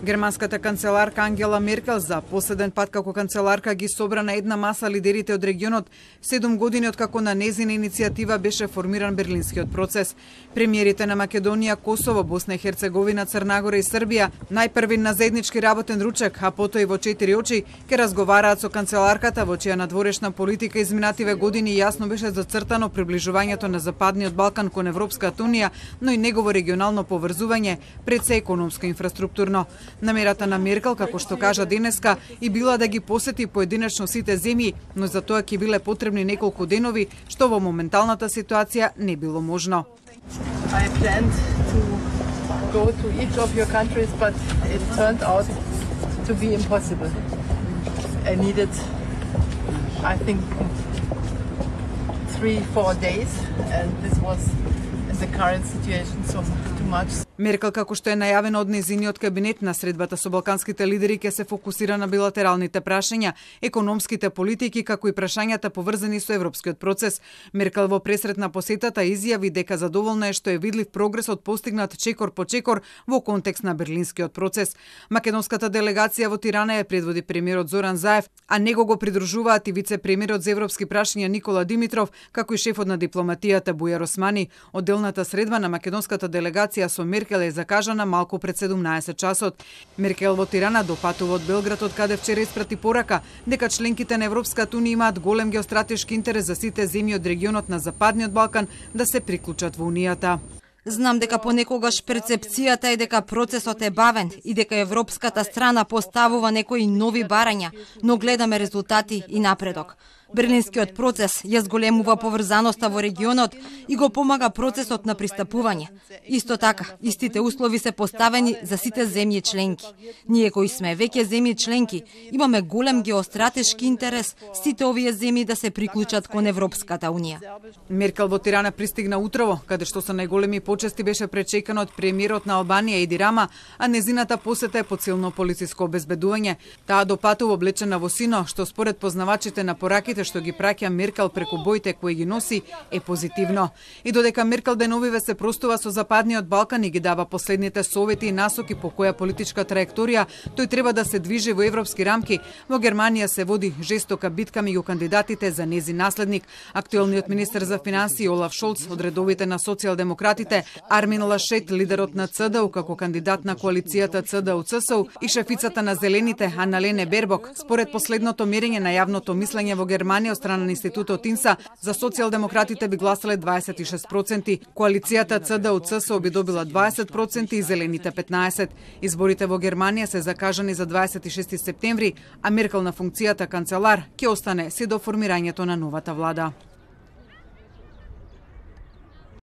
Германската канцеларка Ангела Меркел за последен пат како канцеларка ги собра на една маса лидерите од регионот 7 години откако на незина иницијатива беше формиран Берлинскиот процес. Премиерите на Македонија, Косово, Босна и Херцеговина, Црна Гора и Србија најпрви на заеднички работен ручек, а потоа и во 4 очи ќе разговараат со канцеларката во чија надворешна политика изминативе години јасно беше зацртано приближувањето на Западниот Балкан кон Европската унија, но и негово регионално поврзување, пред се економско и инфраструктурно. Намерата на Меркел, како што кажа денеска, и била да ги посети поединечно сите земји, но за тоа ќе биле потребни неколку денови, што во моменталната ситуација не било можно. I planned to go to each of your countries, but it turned out to be impossible. I needed, I think, 3-4 days, and this was in the current situation so too much. Меркел, како што е најавено од незиниот кабинет, на средбата со балканските лидери ќе се фокусира на билатералните прашања, економските политики, како и прашањата поврзани со европскиот процес. Меркел во пресрет на посетата изјави дека задоволна е што е видлив прогресот постигнат чекор по чекор во контекст на Берлинскиот процес. Македонската делегација во Тирана ја предводи премиерот Зоран Заев, а него го придружуваат и вице-премиерот за европски прашања Никола Димитров, како и шефот на дипломатијата Бујар Османи. Одделната средба на македонската делегација со Меркел е закажана малку пред 17 часот. Меркел во Тирана допатува од Белград, од каде вчера испрати порака дека членките на Европската унија имаат голем геостратешки интерес за сите земји од регионот на Западниот Балкан да се приклучат во Унијата. Знам дека понекогаш перцепцијата е дека процесот е бавен и дека европската страна поставува некои нови барања, но гледаме резултати и напредок. Берлинскиот процес ја зголемува поврзаноста во регионот и го помага процесот на пристапување. Исто така, истите услови се поставени за сите земји членки. Ние кои сме веќе земји членки, имаме голем геостратешки интерес сите овие земји да се приклучат кон Европската унија. Меркел во Тирана пристигна утрово, каде што со најголеми почести беше пречекан од премиерот на Албанија Еди Рама, а незината посета е под силно полициско обезбедување. Таа допатува облечена во сино, што според познавачите на пораките што ги праќа Меркел преку боите кои ги носи е позитивно. И додека Меркел деновиве се простува со Западниот Балкан и ги дава последните совети и насоки по која политичка траекторија тој треба да се движи во европски рамки, во Германија се води жестока битка меѓу кандидатите за незин наследник, актуелниот министер за финансии Олаф Шолц од редовите на социјалдемократите, Армин Лашет, лидерот на ЦДУ како кандидат на коалицијата ЦДУ-ЦСУ и шефицата на Зелените Аналене Бербок. Според последното мерење на јавното мислење во Германија од страна на институтот ИНСА, за социјалдемократите би гласале 26%, коалицијата ЦДУ-ЦСУ би добила 20% и Зелените 15%. Изборите во Германија се закажани за 26 септември, а Меркел на функцијата канцелар ќе остане се до формирањето на новата влада.